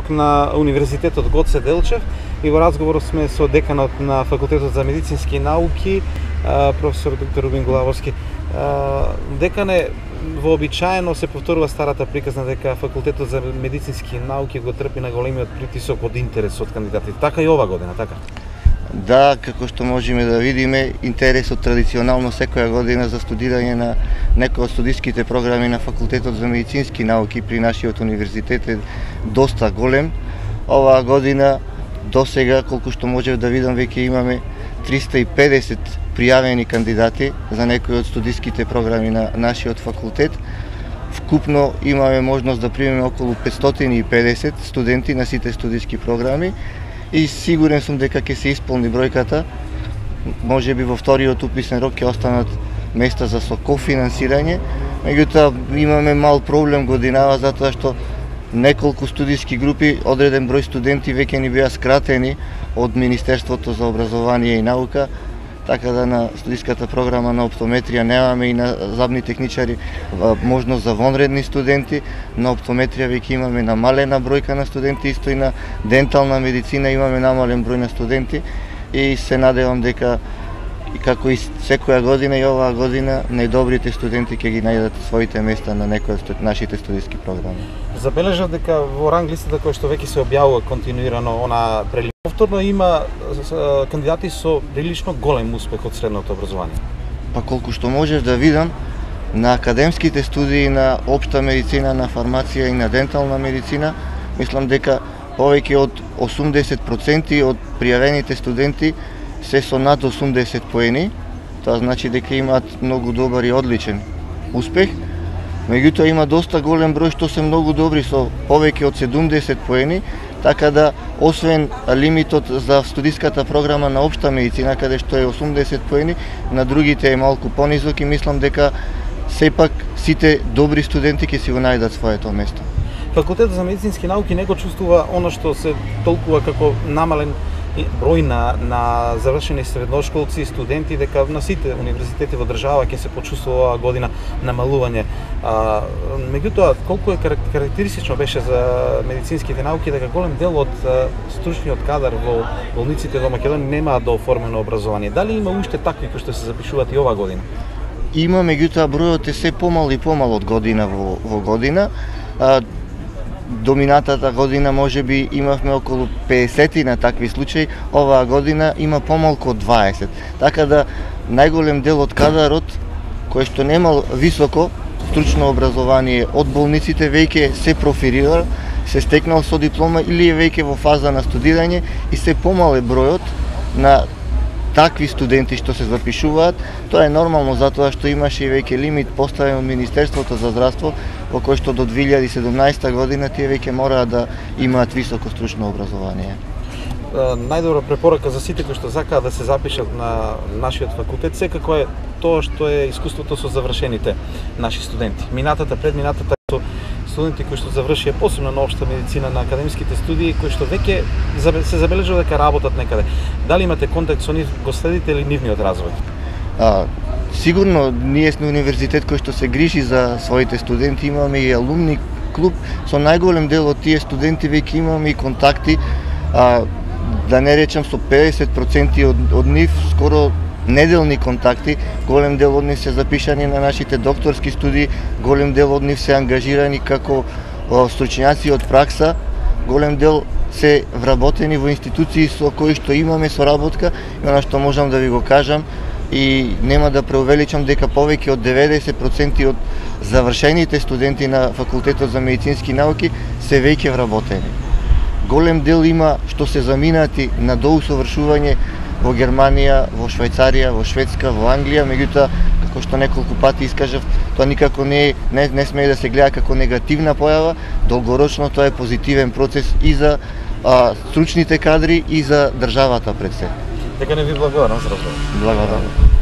тук на Универзитетот Гоце Делчев и во разговор сме со деканот на Факултетот за медицински науки, професор доктор Рубин Главовски. Декане, вообичаено се повторува старата приказна дека Факултетот за медицински науки го трпи на големиот притисок од интерес од кандидатите. Така и ова година, така? Да, како што можеме да видиме, интересот традиционално секоја година за студирање на некои од студиските програми на Факултетот за медицински науки при нашиот универзитет е доста голем. Оваа година досега, колку што можев да видам, веќе имаме 350 пријавени кандидати за некои од студиските програми на нашиот факултет. Вкупно имаме можност да примеме околу 550 студенти на сите студиски програми и сигурен сум дека ќе се исполни бројката. Можеби во вториот уписен рок ќе останат места за кофинансирање, меѓутоа имаме мал проблем годинава затоа што неколку студиски групи, одреден број студенти веќе ни беа скратени од Министерството за образование и наука, така да на студиската програма на оптометрија немаме и на забни техничари можност за вонредни студенти. На оптометрија веќе имаме намалена бројка на студенти, исто и на дентална медицина имаме намален број на студенти и се надевам дека и како и секоја година и оваа година најдобрите студенти ќе ги најдат своите места на некои од нашите студиски програми. Забележав дека во ранг листата која што веќе се објавува континуирано она повторно има кандидати со прилично голем успех од средното образование. Па колку што можев да видам, на академските студии на општа медицина, на фармација и на дентална медицина, мислам дека повеќе од 80% од пријавените студенти се со над 80 поени. Тоа значи дека имаат многу добар и одличен успех. Меѓутоа има доста голем број што се многу добри со повеќе од 70 поени, така да освен лимитот за студиската програма на општа медицина каде што е 80 поени, на другите е малку понизок и мислам дека сепак сите добри студенти ќе си го најдат своето место. Факултетот за медицински науки не го чувствува она што се толкува како намален број на завршени средношколци и студенти, дека на сите универзитети во држава ќе се почувствува оваа година намалување. Меѓутоа, колку е карактеристично беше за медицинските науки дека голем дел од стручниот кадар во болниците во Македонија немаат дооформено образование. Дали има уште такви кои што се запишуваат и оваа година? Има, меѓутоа бројот е се помал и помал од година во година. Доминатата година можеби имавме околу 50 на такви случаи, оваа година има помалку од 20. Така да најголем дел од кадарот кој што немал високо стручно образование од болниците веќе се профилира, се стекнал со диплома или е веќе во фаза на студирање и се помал е бројот на такви студенти што се запишуваат. Тоа е нормално затоа што имаше и веќе лимит поставен од Министерството за здравство во кој што до 2017 година тие веќе мораат да имаат високо стручно образование. Најдобра препорака за сите кои што сакаат да се запишат на нашиот факултет секако е тоа што е искуството со завршените наши студенти. Предминатата со студенти кои што завршија посебно на општа медицина на академските студии, кои што веќе се забележува дека работат некаде. Дали имате контакт со нив, го следите ли нивниот развој? Сигурно, ние сме универзитет кој што се грижи за своите студенти, имаме и алумни клуб, со најголем дел од тие студенти веќе имаме и контакти, да не речам со 50% од нив, скоро неделни контакти, голем дел од нив се запишани на нашите докторски студии, голем дел од нив се ангажирани како стручњаци од пракса, голем дел се вработени во институции со кои што имаме соработка, и она што можам да ви го кажам и нема да преувеличам дека повеќе од 90% од завршените студенти на Факултетот за медицински науки се веќе вработени. Голем дел има што се заминати на доусовршување во Германија, во Швајцарија, во Шведска, во Англија, меѓутоа, како што неколку пати искажав, тоа никако не смее да се гледа како негативна појава, долгорочно тоа е позитивен процес и за стручните кадри и за државата пред се. Дека не ви благодарам за разговор. Благодарам.